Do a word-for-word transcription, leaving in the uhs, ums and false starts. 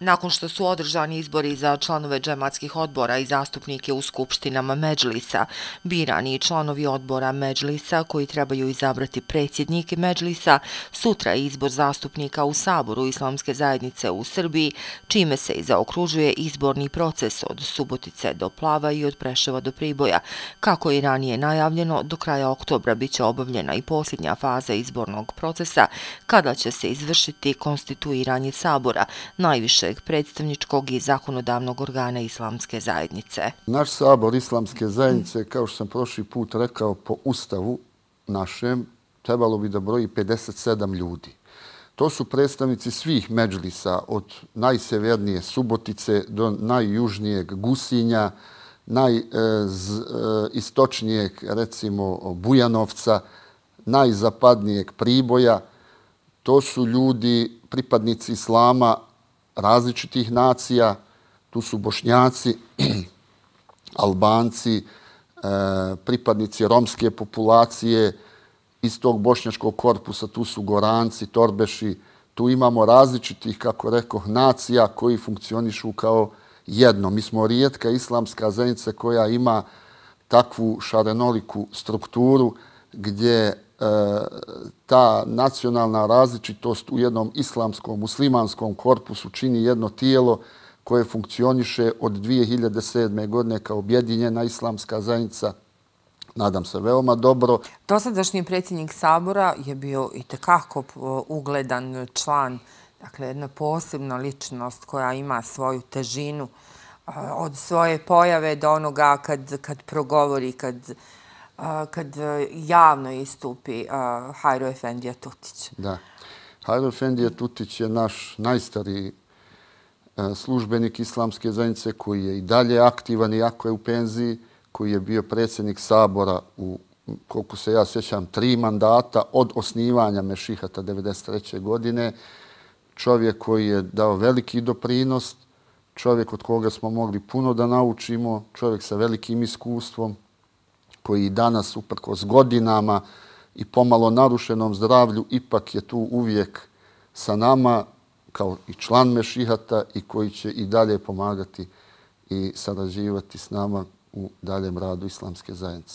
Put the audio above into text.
Nakon što su održani izbori za članove džematskih odbora i zastupnike u skupštinama Medžlisa, birani i članovi odbora Medžlisa koji trebaju izabrati predsjednike Medžlisa, sutra je izbor zastupnika u Saboru Islamske zajednice u Srbiji, čime se i zaokružuje izborni proces od Subotice do Plava i od Preševa do Priboja. Kako je ranije najavljeno, do kraja oktobra biće obavljena i posljednja faza izbornog procesa, kada će se izvršiti konstituiranje Sabora, najviše predstavničkog i zakonodavnog organa Islamske zajednice. Naš Sabor Islamske zajednice, kao što sam prošli put rekao, po ustavu našem trebalo bi da broji pedeset sedam ljudi. To su predstavnici svih medžlisa, od najsevernije Subotice do najjužnijeg Gusinja, najistočnijeg, recimo, Bujanovca, najzapadnijeg Priboja. To su ljudi, pripadnici islama različitih nacija, tu su Bošnjaci, Albanci, pripadnici romske populacije, iz tog bošnjačkog korpusa tu su Goranci, Torbeši, tu imamo različitih, kako rekoh, nacija koji funkcionišu kao jedno. Mi smo rijetka islamska zajednica koja ima takvu šarenoliku strukturu gdje ta nacionalna različitost u jednom islamskom, muslimanskom korpusu čini jedno tijelo koje funkcioniše od dvije hiljade sedme. godine kao objedinjena islamska zajednica. Nadam se veoma dobro. Dosadašnji predsjednik Sabora je bio itekako ugledan član, dakle jedna posebna ličnost koja ima svoju težinu od svoje pojave do onoga kad, kad progovori, kad kad javno istupi Hajro Efendija Tutić. Da. Hajro Efendija Tutić je naš najstariji službenik Islamske zajednice koji je i dalje aktivan, iako je u penziji, koji je bio predsjednik Sabora u, koliko se ja sjećam, tri mandata od osnivanja Mešihata devedeset treće. godine. Čovjek koji je dao veliki doprinos, čovjek od koga smo mogli puno da naučimo, čovjek sa velikim iskustvom, koji danas, uprkos godinama i pomalo narušenom zdravlju, ipak je tu uvijek sa nama kao i član Mešihata i koji će i dalje pomagati i sarađivati s nama u daljem radu Islamske zajednice.